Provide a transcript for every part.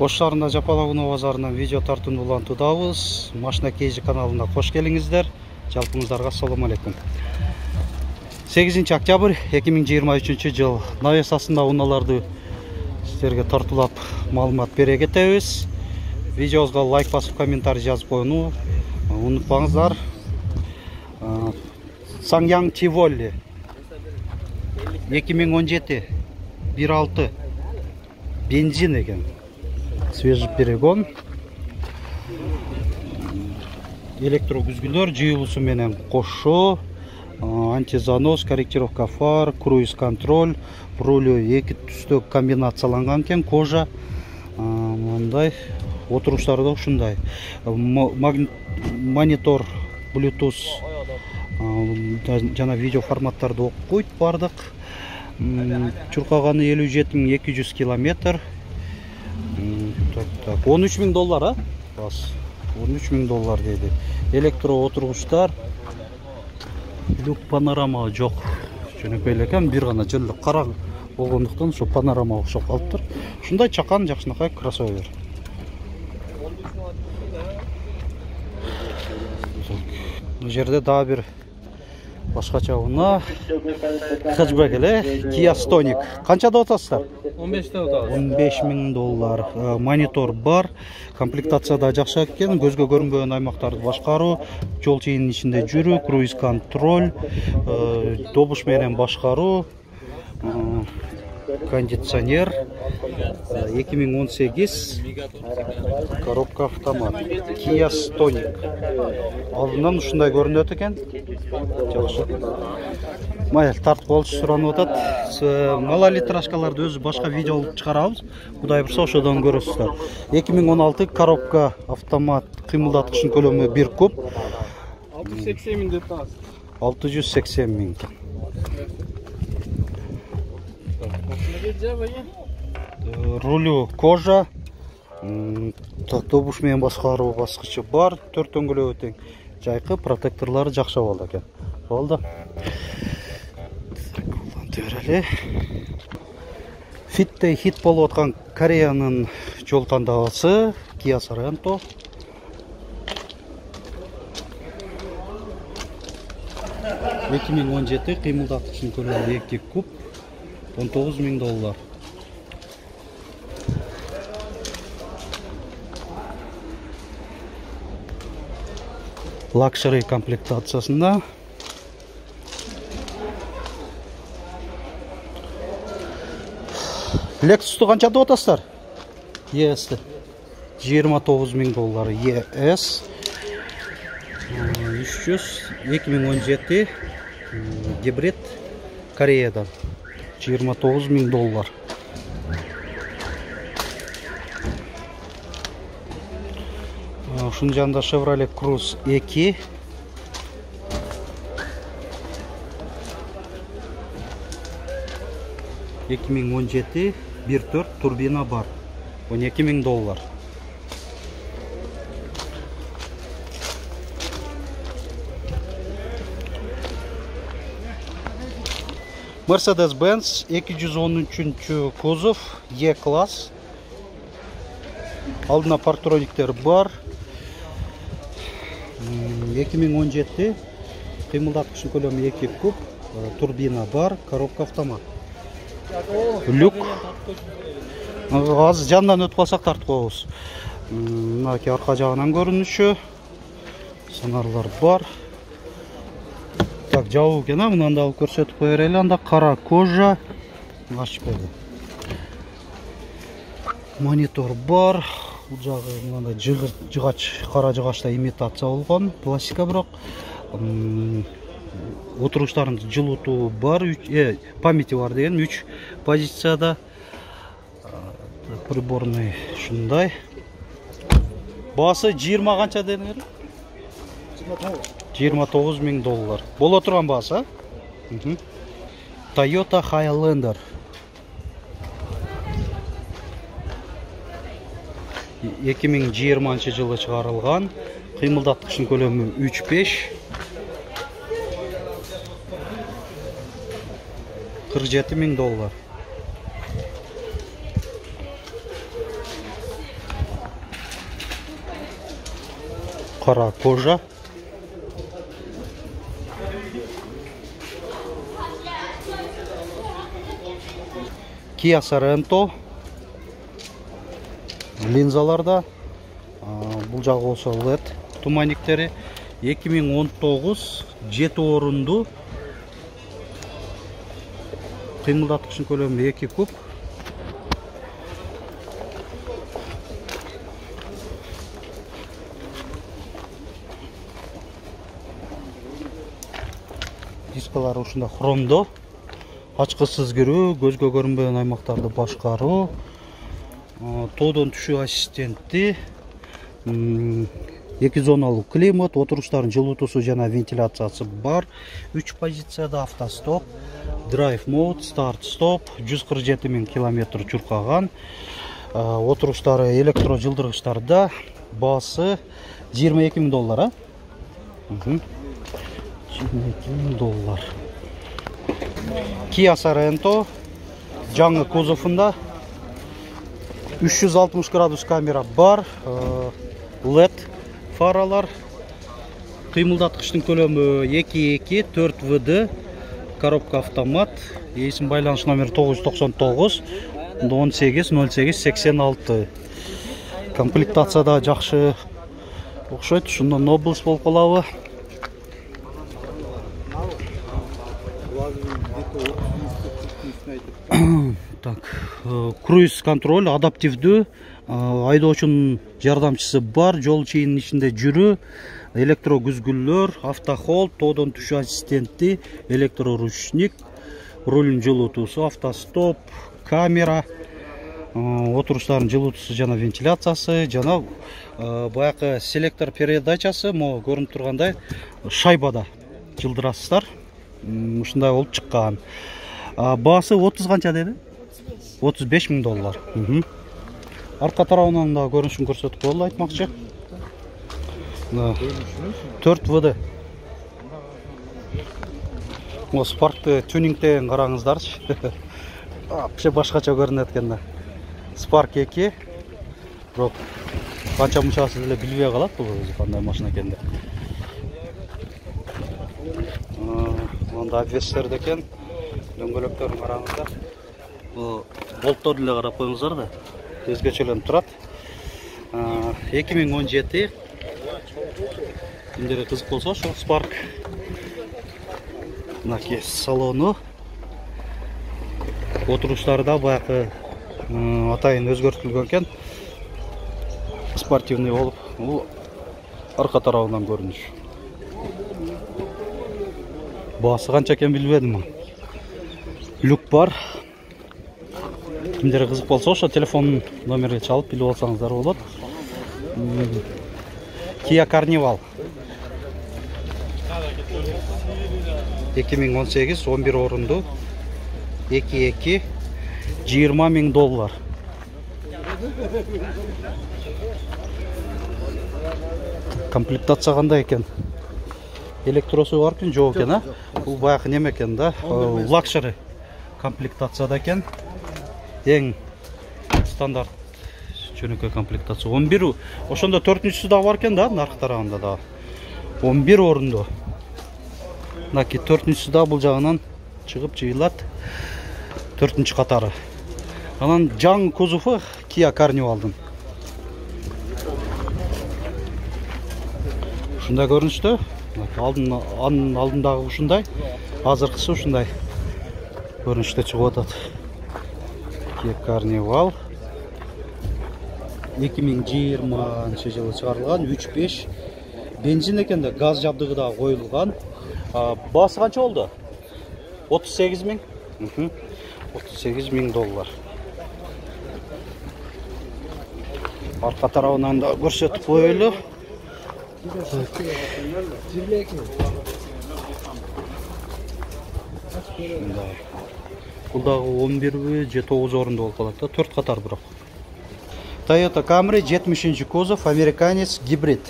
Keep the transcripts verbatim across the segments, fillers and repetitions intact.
Ош шаарында Жапалакуноо базарынан видео тартууну улантуудабыз. Машина Кейжи каналына кош келиңиздер. Жалпыңыздарга ассаламу алейкум. сегизинчи октябрь эки миң жыйырма үчүнчү жыл навесасында унааларды сиздерге тартуулап маалымат бере кетебиз. Видеобузга лайк басып, комментарий жазып коюуну унутпаңыздар. Сангьян Тиволи эки миң он жети бир алты бензин экен. Свежий перегон. Электрокүзгүлөр жыйылуусу менен кошо, антизанос, корректировка фар, круиз контроль, рулю эки түстө комбинацияланган экен, кожа. Мындай отуруштары да ушундай. Монитор, Bluetooth жана видео форматтарды окуйт бардык. Чуркаганы элүү жети миң эки жүз километр. он үч миң доллар, а? Бас. он үч миң доллар дейди. Электро отургучтар. Люк панорама жок. Жөнөкөй эле экен, бир гана жолдо кара болгондуктан ушу панорама окшоп калыптыр. Ушундай чакан жакшынакай кроссовер. Бул жерде дагы бир башкача унаа. Хэтчбек эле, Kia Stonic. Канчада атасыздар? он беште атабыз. он беш миң доллар. Монитор бар. Комплектацияда жакшы экен. Көзгө көрүнбөгөн аймактарды башкаруу, жол чейинин ичинде жүрүү, круиз контроль, добуш менен башкаруу, кондиционер. эки миң он сегиз коробка автомат. Kia Stonic. Алдынан ушундай көрүнөт экен. Жакшы. Майыл тартып болчу суранып атат. Малолитражкаларды өзү башка видео алып чыгарабыз. Кудай бурса ошодон көрөсүздөр. эки миң он алты коробка автомат, кыймылдаткычынын көлөмү бир куб. алты жүз сексен миң деп атабыз. алты жүз сексен миң. Рулю кожа. Добуш менен башкаруу баскычы бар, төрт дөңгөлөгү тең. Жайкы, протекторлору жакшы болду экен. Болду. Төрөлө. Фиттей хит болуп аткан Кореянын жол тандабасы Kia Sorento. эки миң он жети кыймылдаткычынын көлөмү эки куб, он тогуз миң доллар. Лакшери комплектациясында. Lexus'tu канча деп атасыздар? E S жыйырма тогуз миң доллар. E S үч жүз эки миң он жети гибрид Кореядан жыйырма тогуз миң доллар. Ушунун жанында Chevrolet Cruze эки. эки миң он жети бир төрт турбина бар. он эки миң доллар. Mercedes-Benz эки жүз он үчүнчү кузов E-класс. Алдына парктрониктер бар. эки миң он жети кыймылдаткычынын көлөмү эки куб, турбина бар, коробка автомат. Люк. Азыр жандан өтүп калсак тартып коебуз. Мынакей арка жагынан көрүнүшү. Сонарлар бар. Так, жабуу экен, мындан да алып көрсөтүп кое берели. Анда кара кожа. Ачып койду. Монитор бар. Бул жагы мындай жыгач, кара жыгачта имитация болгон, пластика бирок. Отуруштарын жылытуу бар, э, памяти бар деген үч позицияда. Приборный ушундай. Баасы жыйырма канча дедиңер? жыйырма тогуз миң доллар. Боло турган баасы, а? Toyota Highlander. эки миң жыйырманчы жылы чыгарылган. Кыймылдаткычынын көлөмү үч беш. кырк жети миң доллар. кара кожа. Kia Sorento линзаларда. Бул жагы болсо лед туманниктери. эки миң он тогуз жети орунду. Кыймылдаткычтын көлөмү эки куб. Дискалары ушунда хромдо. Ачкысыз кирүү, көзгө көрүнбөгөн аймактарды башкаруу, тоодон түшүү ассистенти, эки зоналуу климат, отуруштардын жылытуусу жана вентиляциясы бар. үч позицияда автостоп, драйв мод, старт стоп, жүз кырк жети миң километр чуркаган. Отуруштары электро жылдыргычтарда. Баасы жыйырма эки миң доллар, а? жыйырма эки миң доллар. Kia Sorento жаңы кузовунда үч жүз алтымыш градус камера бар, лед фаралар, кыймылдаткычтын көлөмү эки эки төрт вэ дэ, коробка автомат, эсим байланыш номери тогуз жүз токсон тогуз он сегиз ноль сегиз сексен алты. Комплектацияда жакшы окшойт, ушунда Nobles болуп калабы. Так, круиз контроль, адаптивдүү, айдоочунун жардамчысы бар, жол чейинин ичинде жүрүү, электро күзгүлөр, автохолд, тоодон түшүү ассистенти, электроручник, рулдун жылытуусу, автостоп, камера, отуруштардын жылытуусу жана вентиляциясы, жана баягы селектор передачасы, могу көрүнүп тургандай шайбада жылдырасыздар. Ушундай болуп чыккан. Баасы отуз канча деди? отуз беш миң доллар. Арка тарабынан да көрүнүшүн көрсөтүп коелу айтмакчы. төрт вэ дэ. Осы Spark'ты тюнингден караңыздарчы. Вообще башкача көрүнөт экен да. Spark эки. Бирок канча мынчасы деле билбей калат бул кандай машина экен деп. Мында обвестер экен. Дөңгөлөктөрүн караңыздар. Бул болттор деле карап коюңуздар да. Өзгөчөлөнүп турат. эки миң он жети. Кимдерге кызык болсо, ошо Spark. Мынакей салону. Отуруштары да баягы атайын өзгөртүлгөн экен. Спортивный болуп, бул арка тарабынан көрүнүш. Баасы канча экен билбедим. Люк бар. Кимдерге кызык болсо, ошо телефон номерге чалып билип алсаңыздар болот. Kia Carnival. эки миң он сегиз он бир орунду. эки эки жыйырма миң доллар. Комплектация кандай экен? Электросу бар экен, жок экен, а? Бул баягы неме экен да, лакшери комплектацияда экен. Эң стандарт жөнөкөй комплектация. он бир, ошондо төртүнчүсү да бар экен да, наркы тарабында да. он бир орунду. Мынакей төртүнчүсү да бул жагынан чыгып жыйылат. төртүнчү катары. Анан жаңы кузову Kia Carnival'дын. Ушундай көрүнүштө. Алдын анын алдындагы ушундай, азыркысы ушундай көрүнүштө чыгып атат. Kia Carnival эки миң жыйырманчы жылы чыгарылган, үч беш бензин экен да, газ жабдыгы да коюлган. Баасы канча болду? отуз сегиз миң. отуз сегиз миң доллар. Арка тарабынан да көрсөтүп коелу. Бул дагы он бир же тогуз орунду болуп калат да, төрт катар бирок. Toyota Camry жетимишинчи кузов, американец, гибрид.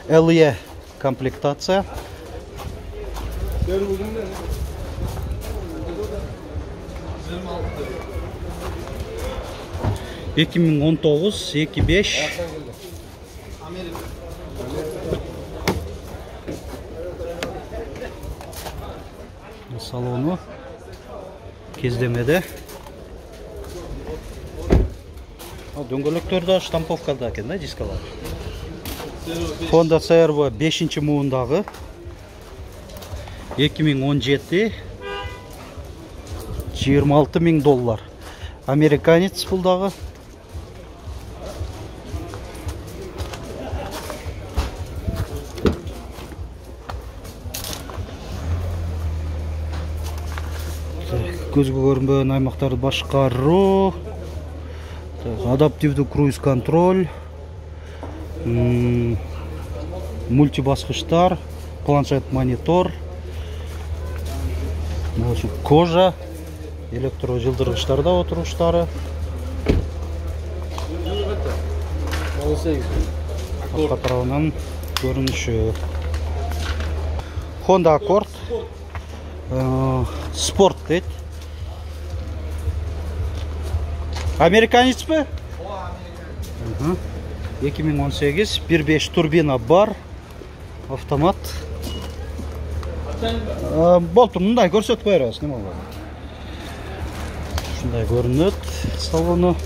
эл и комплектация. эки миң он тогуз эки беш салону кездемеде. Дөңгөлөктөр да штамповкада экен да, дискалар. Honda си ар ви бешинчи муундагы эки миң он жети жыйырма алты миң доллар. Американец бул дагы. Көзгө көрүнбөгөн аймактарды башкаруу, адаптивдүү круиз контроль, мультибаскычтар, планшет монитор, кожа, электро жылдыргычтарда отуруштары. Арка тарабынан көрүнүшү. Honda Accord спорт дейт. Американец бе? эки миң он сегиз, бир беш турбина бар, автомат. Болтур, мындай көрсөтүп беребиз, неме болот? Ушундай көрүнөт салону.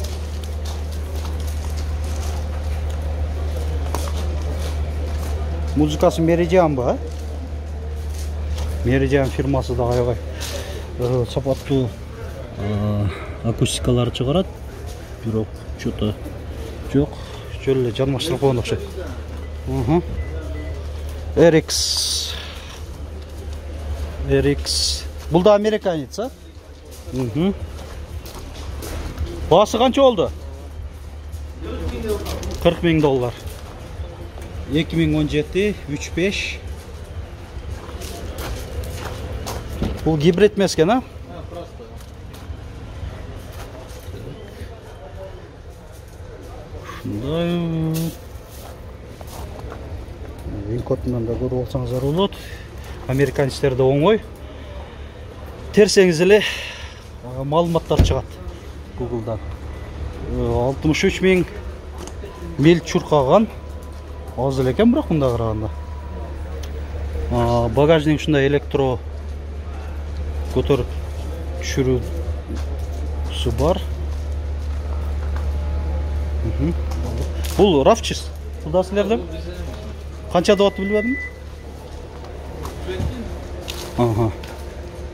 Музыкасы Meridian ба? Meridian фирмасы да аябай сапаттуу акустикалар чыгарат. Бирок что-то жок, жөн эле жанмаштырып койгон окшойт. эр икс эр икс. Бул да американец, а? Баасы канча болду? кырк миң доллар. эки миң он жети үч беш. Бул гибрид эмес экен, а? Винкотунан да көрүп алсаңыздар болот. Американецтерде оңой. Терсеңиз эле маалыматтар чыгат Google'дан. алтымыш үч миң миль чуркаган. Аз эле экен бирок мында караганда. Багажник ушундай электро көтөрүп түшүрүүсү бар. Бул рафчис. Бул да силерден? Канча деп атып билбедим? Ага.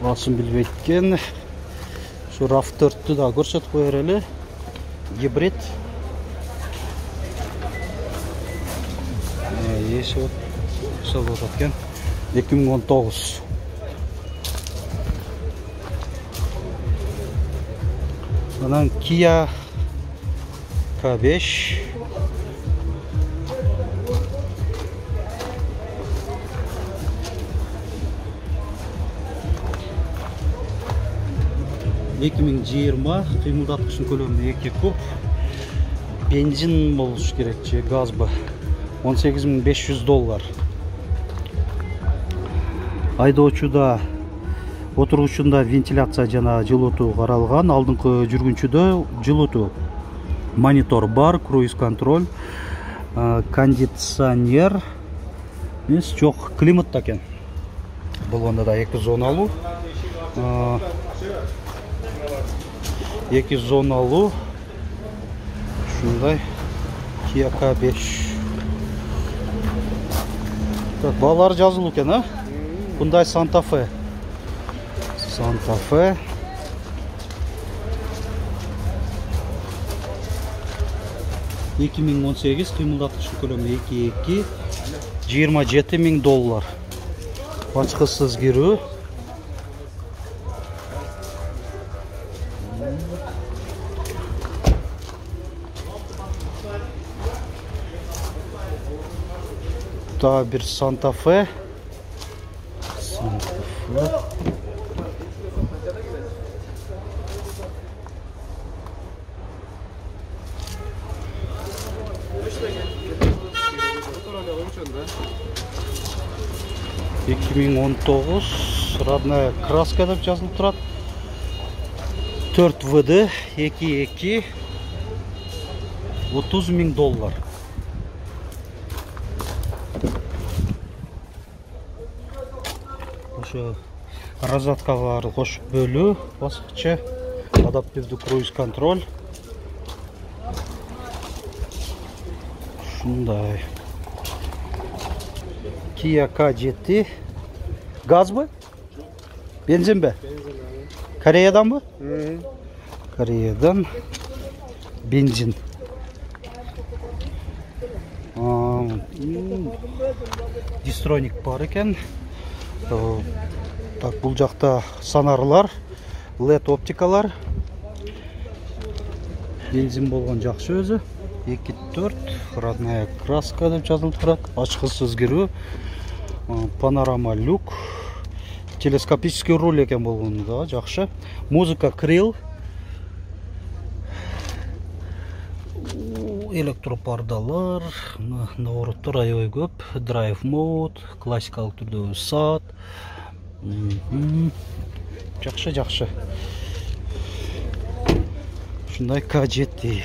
Басым билбейт экен. Şu RAV төрттү да көрсөтүп кое берели. Гибрид. Э, эси вот салып аткан. эки миң он тогуз. Анан Kia К беш. эки миң жыйырма, кыймылдаткычтын көлөмү эки куб. Бензин болуш керек же газбы? он сегиз миң беш жүз доллар. Айдоочуда отургучунда вентиляция жана жылытуу каралган, алдыңкы жүргүнчүдө жылытуу. Монитор бар, круиз контроль, кондиционер. Эмес, жок, климат да экен. Болгондо да эки зоналуу. эки зоналуу. Ушундай Kia К беш. Так, баалар жазылуу экен, а? Hyundai Santa Fe. Santa Fe. эки миң он сегиз, кыймылдаткычтын көлөмү эки эки, жыйырма жети миң доллар. Ачкысыз кирүү. Daha bir Santa Fe. Santa Fe. эки миң он тогуз родная краска деп жазылып турат. төрт вэ дэ эки эки, отуз миң доллар. Ошо Розеткага кошуп бөлүү баскычы, адаптивдүү круиз контроль. Ушундай. Kia K жети. Газбы? Бензинби? Кореяданбы? Кореядан бензин. Дистроник бар экен. Так, бул жакта сонарлар, лед оптикалар. Бензин болгон жакшы өзү. эки төрт родная краска деп жазылып турат. Ачкычсыз кирүү. Панорама люк. Телескопический руль экен болгону да жакшы. Музыка крил. Электропардалар, навороттор аябай көп. Драйв мод, классикалык түрдө саат. Жакшы, жакшы. Ушундай К жети.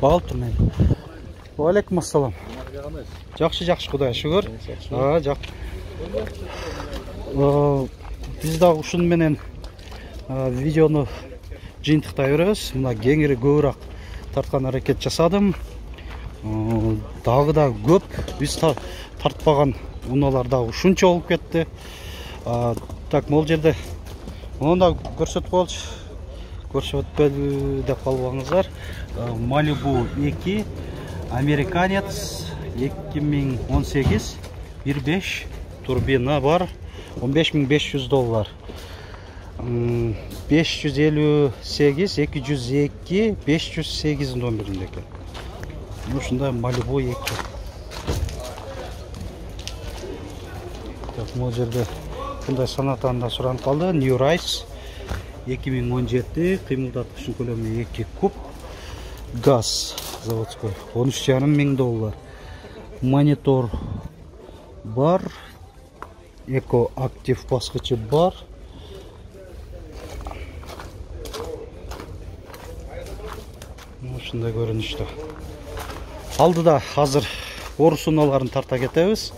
Бал турмай. Ва алейкум ассалам. Жакшы, жакшы, Кудайга шүгүр. А, жак. Биз да ушун менен видеону жыйынтыктай беребиз. Мына кеңири көбүрөөк тарткан аракет жасадым. Дагы да көп биз тартпаган унаалар да ушунча болуп кетти. Так, могул жерде муну да көрсөтүп коелучу. Көрсөтпөдү деп калбаңыздар. Malibu эки Американец эки миң он сегиз бир беш турбина бар. он беш миң беш жүз доллар. беш жүз элүү сегиз эки жүз эки беш жүз сегиз номеринде экен. Ушундай Malibu эки. Так, могул жерде мындай санатан да суранып калды. New Rise эки миң он жети, кыймылдаткычын көлөмү эки куб. Газ заводской он үч жарым миң доллар. Монитор бар. Эко актив баскычы бар. Ушундай көрүнүштө. Алдыда азыр орус унааларын тарта кетебиз.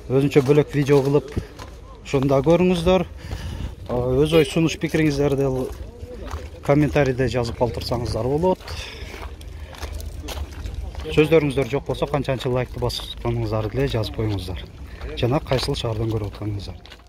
Өзүнчө бөлөк видео кылып, ошону да көрүңүздөр. Өз ой сунуш пикириңиздерди комментарийде жазып калтырсаңыздар болот. Сөздөрүңүздөр жок болсо, канчанчы лайкты басканыңыздарды деле жазып коюңуздар. Жана кайсыл шаардан көрүп атканыңыздарды.